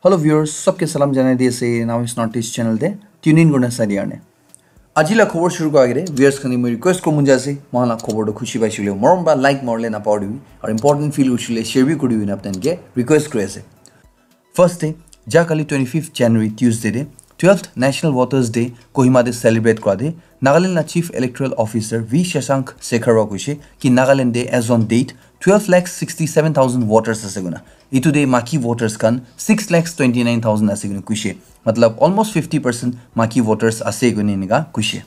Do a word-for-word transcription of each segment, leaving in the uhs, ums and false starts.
Hello viewers, sabke salam janai di ase Naomi's Northeast channel te tune in kurna sai dia karne. Aji la khobor shuru kora agete viewers khan ke moi request koribo mon jai ase, moikhan la khobor toh khushi paise koile morom para like marile napahoribi, aru important feel kurise koile share bi koribi koina apni khan ke request kuri ase. First te, ja kali twenty-fifth January Tuesday te twelfth National Voters Day Kohima te celebrate kora te Nagaland la Chief Electoral Officer V Shashank Sekhar wa koise ki Nagaland te as on date twelve lakh sixty-seven thousand voters ase koina. Itu te maki voters khan six lakhs twenty-nine thousand ase koina koise. Matlab almost fifty percent maki voters ase koina enika koise.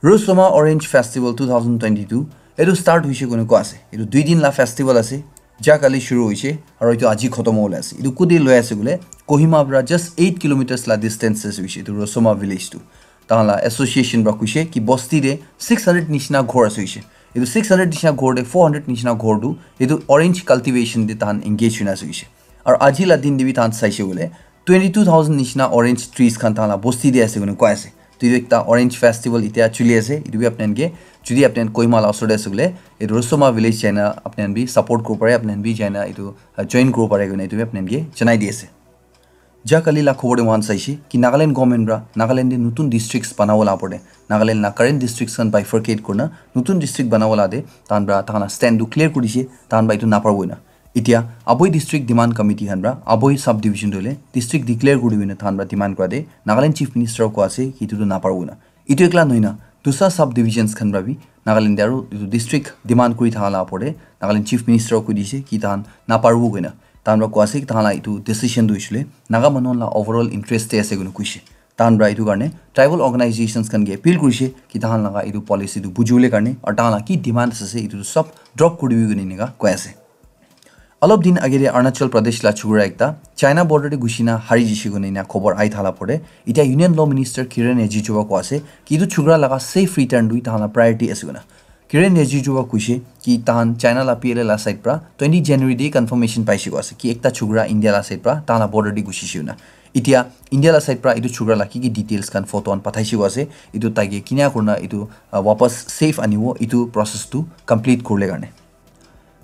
Rosoma Orange Festival two thousand twenty-two etu start hoise koina koa ase. Etu dui din la festival ase. Ja kali shuru hoise aru etu aji khotom hobole ase. Etu kute loi ase koile Kohima para just eight kilometers la distance ase hoise etu Rosoma village tu. Tahan la association para koise ki bosti te six hundred nishina ghor ase hoise. Etu six hundred nishina ghor te four hundred nishina ghor tu etu orange cultivation te tahan engage hoina ase hoise. Aru aji la din te bi tahan saise koile twenty-two thousand nishina orange trees khan tahan la bosti te ase koina koi ase. To etu ekta orange festival itia chuli ase. Etu bi apni khan ke jodi apni khan Kohima la osor te ase koile etu Rosoma village jaina apni khan bi support koribo pare, apni khan bi jaina etu uh, join koribo pare koina etu bi apni khan ke janai di ase. Ja kali la khobor te moikhan saise ki Nagaland government para Nagaland te notun districts banabo la opor te Nagaland la current districts khan bifurcate kurina notun district banabo la te tahan para tahan la stand tu clear kuri dise, tahan para etu naparibo koina. Itia Aboi District Demand Committee khan para Aboi Subdivision tu hoile district declare kuri dibole tahan para demand kora te Nagaland Chief Minister koa ase ki etu tu naparibo koina. Etu ekla nohoina dusra subdivisions khan para bi Nagaland te aru etu district demand kuri thaka la opor te Nagaland Chief Minister koi dise ki tahan naparibo koina. Tahan para koa ase ki tahan la etu decision tu hoishe koile Naga manu la overall interest te ase koina koishe. Tahan para etu karne tribal organizations khan ke appeal kurishe ki tahan laga etu policy tu bujibole karne aru tahan la ki demands ase etu tu sob drop kuri dibi koina enika koi ase. Alop din age te Arunachal Pradesh la chukura ekta China border te gushina hari jishe koina ena khobor ahi thala pore. Itia Union Law Minister Kiren Rijiju wa koa ase ki etu chukura laga safe return tu tahan la priority ase koina. Kiren Rijiju wa koishe ki tahan China la P L A la side pra twenty January te confirmation paishe koa ase ki ekta chukura India la side pra tahan la border te gushishe koina. Itia India la side pra etu chukura la ki ki details khan photo khan pathaishe koa ase. Etu taike kinia kurina etu uh, wapas safe anibo etu process tu complete kurle karne.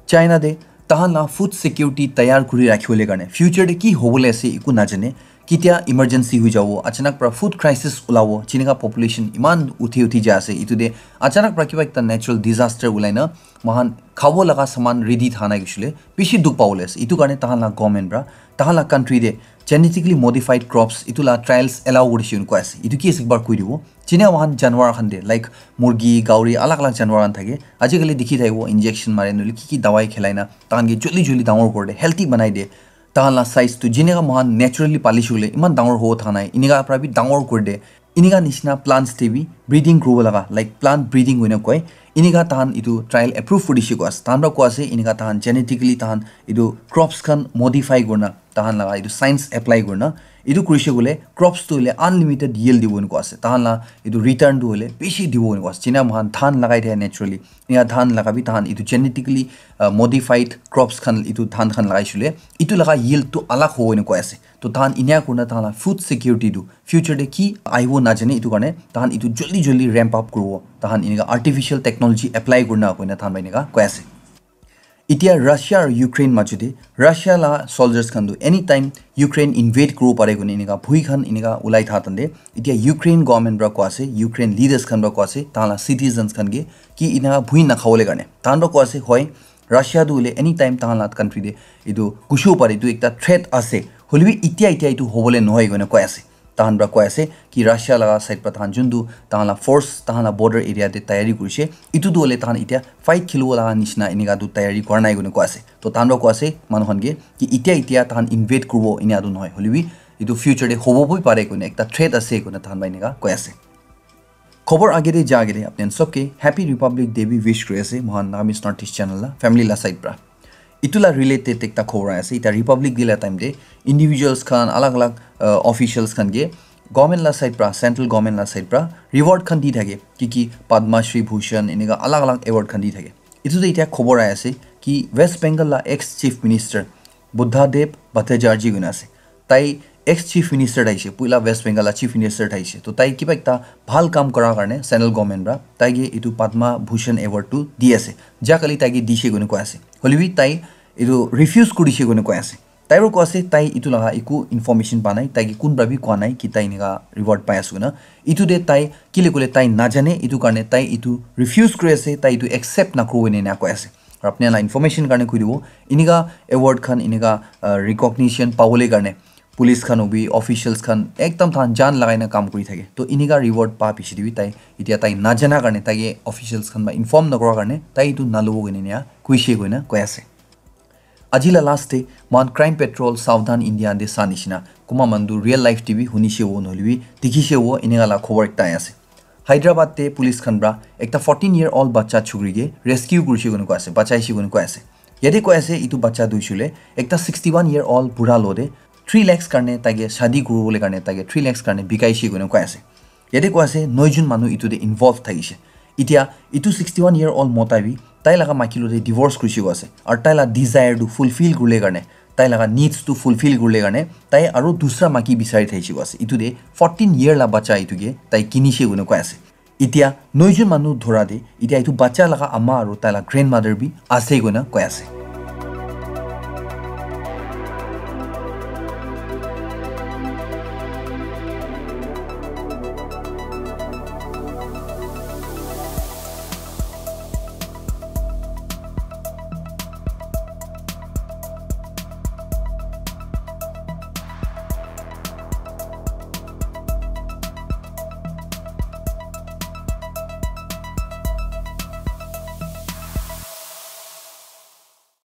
China te tahan la food security tayar kuri rakhibole karne future te ki hobole ase eku najane, ketia emergency hoi jabo, achanak pra food crisis ulabo, jinika population iman uthi uthi jai ase, etu te achanak pra kiba ekta natural disaster ulai na moikhan khabo laga saman ready thaka nai koishe koile bishi dukh pabole ase. Etu karne tahan la government pra tahan la country te genetically modified crops etu la trials allow kurishe koina koi ase. Etu ki ase ekbar koi dibo? Jene moikhan janwar khan te like murgi, gauri, alag alag janwar khan thake, ajikali dikhi thakibo injection mare nohoile ki ki dawai khilai na tahan ke joldi joldi dangor kuri de, healthy banai de. Tahan la size tu jinika moikhan naturally palishe koile iman dangor hobo thaka nai, inika pra bi dangor kuri de. Inika nishina plants te bi breeding kuribo laga, like plant breeding hoina koi, inika tahan etu trial approve kuri dishe koi ase. Tahan pra koi ase inika tahan genetically tahan etu crops khan modify kurina tahan laga etu science apply kurina etu kurishe koile crops tu hoile unlimited yield dibo enika ase. Tahan la etu return tu hoile bishi dibo enika ase. Jina moikhan dhan lagai thaka naturally, enika dhan laga bi tahan etu genetically uh, modified crops khan etu dhan khan lagaishe koile etu laga yield tu alag hobo enika ase. To tahan enika kurina tahan la food security tu future te ki ahibo najane, etu karne tahan etu joldi joldi ramp up kuribo, tahan enika artificial technology apply kurina koina tahan pra enika koi ase. Itia Russia aru Ukraine majo te Russia la soldiers khan tu anytime Ukraine invade kuribo pare koina enika bhui khan enika ulai tha tante, itia Ukraine government pra koi ase, Ukraine leaders khan pra koi ase tahan la citizens khan ke ki enika bhui nakhabole karne. Tahan pra koi ase hoi Russia tu hoile anytime tahan la country te etu gushibo pare, etu ekta threat ase. Hoilebi itia itia etu hobole nohoi koina koi ase. Tahan pra koi ase ki Russia laga side pra tahan juntu tahan la force tahan la border area te tayari kurishe, etu tu hoile tahan itia fight khilibo laga nishina enika tu tayari kura nai koina koi ase. To tahan pra koi ase manu khan ke ki itia itia tahan invade kuribo enika tu nohoi, hoilebi etu future te hobo bi pare koina ekta threat ase koina tahan pra enika koi ase. Khobor age te ja age te apni khan sob ke Happy Republic Day bi wish kuri ase moikhan Nagamese Northeast channel la family la side pra. Etu la related ekta khobor ahi ase. Eta Republic Day la time te individuals khan, alag alag uh, officials khan ke government la side pra, central government la side pra reward khan di thake, ki ki Padma Shri Bhushan enika alag alag award khan di thake. Etu te eta khobor ahi ase ki West Bengal la ex chief minister Buddha Dev Bhattacharjee koina ase. Tai ex chief minister thaishe, puila West Bengal la chief minister thaishe. To tai kiba ekta bhal kam kora karne central government pra tai ke etu Padma Bhushan award tu di ase. Ja kali tai ke dishe koina koi ase. Hoilebi tai etu refuse kurishe koina koi ase. Tai ro koi ase tai itu laga eku information pa nai, tai ke kun pra bi koa nai ki tai enika reward pai ase koina. Itu te tai kile koile tai najane, itu karne tai itu refuse kuri ase, tai itu accept nakuru ene ena koi ase. Aru apni la information karne koi dibo, enika award khan, enika, uh, recognition pabole karne police khan hobi, officials khan ekdam than jan lagai na kam kuri thake. To enika reward pa piche te bi tai, itia tai najana karne, tai ke officials khan ba inform nakura karne tai itu nalobo koina ena kuishe koina koi ase. Aji la last te moikhan Crime Patrol Savdhan India de sa nishina, kuma manu real life te bi hunishe wo nohole bi dikhishe wo enika la khobor ekta ahi ase. Hyderabad te police khan pra ekta fourteen year old bacha chukri ke rescue kurishe koina koi ase, bachaishe koina koi ase. Yate koi ase itu bacha tu hoishe koile ekta sixty one year old bura lo te three lakhs karne tai ke shadi kuribole karne tai ke three lakhs karne bikaishe koina koi ase. Yate koi ase noi jun manu itu te involve thakishe. Itia itu sixty one year old mota bi tai laga maiki lo te divorce kurishe koi ase. Aru tai la desire tu fulfill kurile karne, tai laga needs tu fulfill kurile karne tai aru dusra maiki bisari thakishe koi ase. Itu te fourteen year la bacha itu ke tai kinishe koina koi ase. Itia noi jun manu dhora te, itia itu bacha laga ama aru tai la grandmother bi ase koina koi ase.